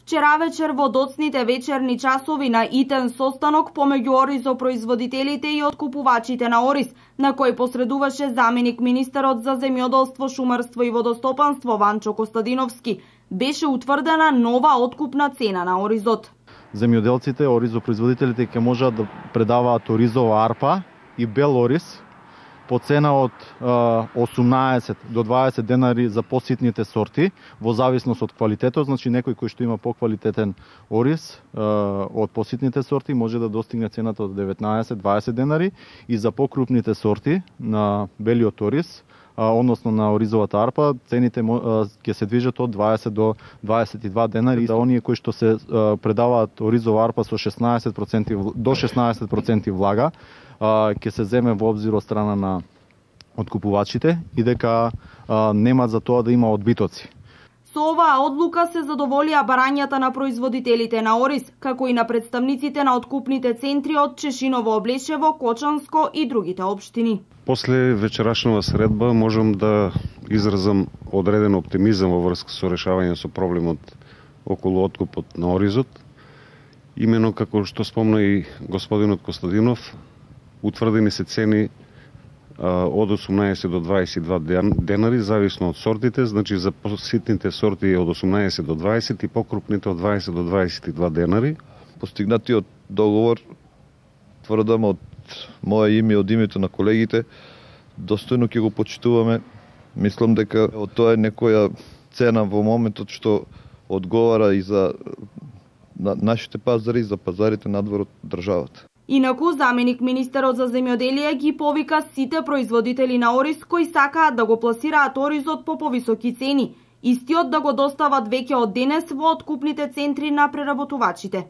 Вчера вечер во доцните вечерни часови на итен состанок помеѓу оризопроизводителите и откупувачите на ориз, на кој посредуваше заменик министерот за земјоделство, шумарство и водостопанство Ванчо Костадиновски, беше утврдена нова откупна цена на оризот. Земјоделците, оризопроизводителите ќе можат да предаваат оризова арпа и бел ориз по цена од 18 до 20 денари за поситните сорти, во зависност од квалитетот. Значи некој кој што има поквалитетен ориз од поситните сорти може да достигне цената од 19-20 денари, и за покрупните сорти на белиот ориз, односно на оризовата арпа, цените ќе се движат од 20 до 22 денари. За оние кои што се предаваат оризова арпа со 16% до 16% влага, ќе се земе во обзир од страна на откупувачите и дека нема за тоа да има одбитоци. Со оваа одлука се задоволија барањата на производителите на ориз, како и на представниците на откупните центри од Чешиново, Облешево, Кочанско и другите општини. После вечерашнава средба можам да изразам одреден оптимизам во врска со решавање со проблемот околу откупот на оризот. Имено како што спомна и господинот Костадинов, утврдени се цени од 18 до 22 денари, зависно од сортите, значи за поситните сорти од 18 до 20 и покрупните од 20 до 22 денари. Постигнатиот договор, тврдам од мое име и од името на колегите, достојно ќе го почитуваме. Мислам дека тоа е некоја цена во моментот што одговара и за нашите пазари и за пазарите надвор од државата. Инаку, заменик министерот за земјоделие ги повика сите производители на ориз кои сакаат да го пласираат оризот по повисоки цени, истиот да го достават веќе од денес во откупните центри на преработувачите.